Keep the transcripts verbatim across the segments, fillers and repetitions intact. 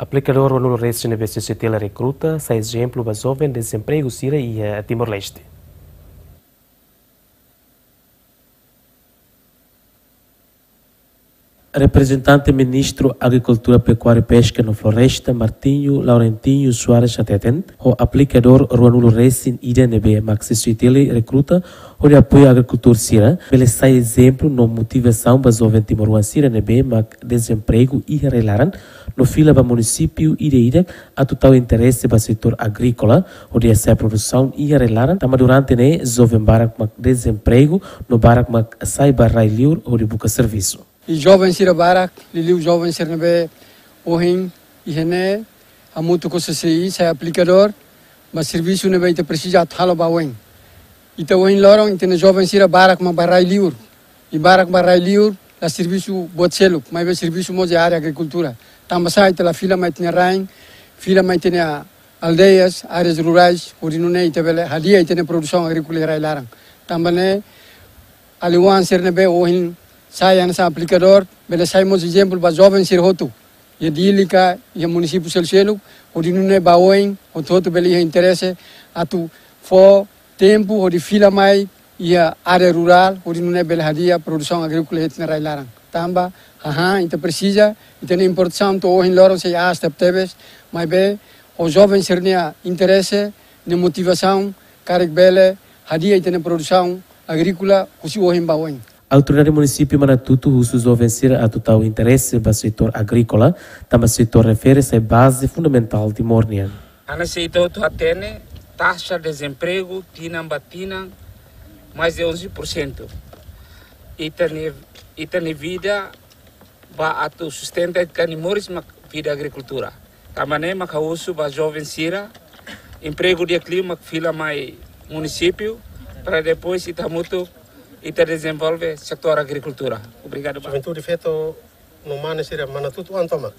Aplikadór ruanulu resin ne'ebé CCTL rekruta, sai ezemplu ba joven dezempregu sira iha Timor-Leste. Reprezentante Ministru Agrikultura, Pekuária, Peska no Floresta, Martinho Laurentinho Soares hateten, ho aplikadór ruanulu resin ida ne'ebé mak CCTL rekruta, hodi apoia agrikultór sira, bele sai ezemplu no motivasaun ba joven timoroan sira ne'ebé mak dezempregu iha rai-laran, no fila ba munisípiu ida-idak atu tau interese ba setór agríkola, hodi hasa'e produsaun iha rai-laran, tanba durante ne'e joven barak mak dezempregu, no barak mak sai ba rai-liur hodi buka servisu. I joven sira barak, liuliu joven sira ne'ebé ohin iha ne'e, hamutuk ho CCI, sai aplikadór, ba servisu ne'ebé ita presiza atu halo ba oin. Ita ohin loron, ita-nia joven sira barak mak ba rai-liur. I barak ba rai-liur, la servisu buat seluk, maibé servisu mós iha área agrikultura. Tanba sá ita la fila mai ita-nia rain, fila mai ita-nia aldeias, áreas rurais, hodi nune'e ita bele hadi'a ita-nia produsaun agríkola iha rai-laran. Tanba ne'e, alin-oan sira ne'ebé ohin sai hanesan aplikadór, bele sai mós ezemplu ba joven sira hotu. Iha Dili ka, iha munisípiu selu-seluk, hodi nune'e ba oin, hotu-hotu bele iha interese, atu fó tempu, hodi fila mai, iha área rurál, hodi nune'e bele hadi'a produsaun agríkola iha ita-nia rai-laran. Tanba, hahán, ita presiza, ita-nia importasaun to'o ohin loron sei aas tebetebes, maibé, ho joven sira-nia interese, nia motivasaun, karik bele, hadi'a ita-nia produsaun agríkola, husi ohin ba oin. Autoridade Munisípiu Manatuto husu joven sira atu tau interese ba setór agríkola, tanba setór refere sai baze fundamentál Timor nian. Hanesan ita hotu hatene, taxa dezempregu tinan ba tinan mais de onze por cento. Ita-nia, ita-nia vida ba atu sustenta ita-nia moris mak vida agrikultura. Tanba ne'e mak ha'u husu ba joven sira, empregu di'ak liu mak fila mai munisípiu, para depois ita hamutuk, ita dezenvolve setór agrikultura. Obrigadu ba. Juventude feto no mane sira Manatuto an tomak.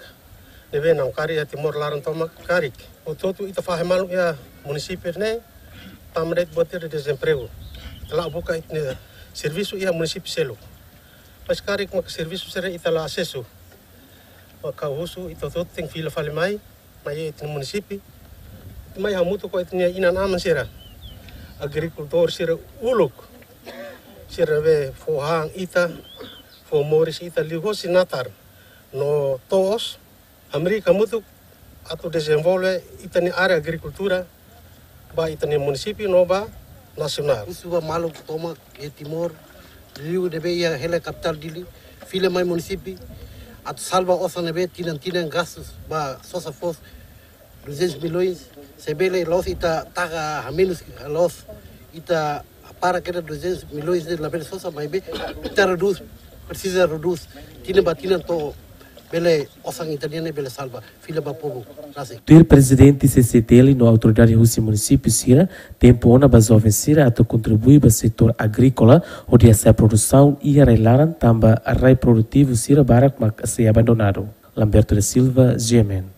Ne'ebé na'in-karik iha Timor laran tomak karik. Hotu-hotu ita fahe malu iha munisípiu ne'e, tanba de'it buat ida dezempregu. Ita la'o buka ita-nia servisu iha munisípiu seluk. Mas karik mak servisu sira ita la asesu. Maka husu ita hotu-hotu tenke fila fali mai, mai ita-nia munisípiu. Mai hamutuk ho ita-nia inan-aman sira. Agrikultór sira uluk. Sira ne'ebé fó han ita, fó moris ita liuhosi natar no to'os, hamriik hamutuk atu dezenvolve ita-nia área agrikultura ba ita-nia munisípiu no ba nasionál. Husu ba maluk tomak iha Timor, liuliu ne'ebé iha hela kapitál Dili, fila mai munisípiu, atu salva osan ne'ebé tinan-tinan gastu ba sosa foos duzentos milhões, se bele la'ós ita taka hamenus, la'ós ita para kedas duzentos milhões ne'e labele sosa, maibé ita redús, presiza redús, tinan ba tinan to'o bele osan ita-nian ne'e bele salva, fila ba povu rasik. Tuir Prezidente CCTL no autoridade husi munisípiu sira, tempu ona ba joven sira atu kontribui ba setór agríkola, hodi hasa'e produsaun iha rai-laran tanba rai produtivu sira barak mak sei abandonadu. Lamberto da Silva, GMN.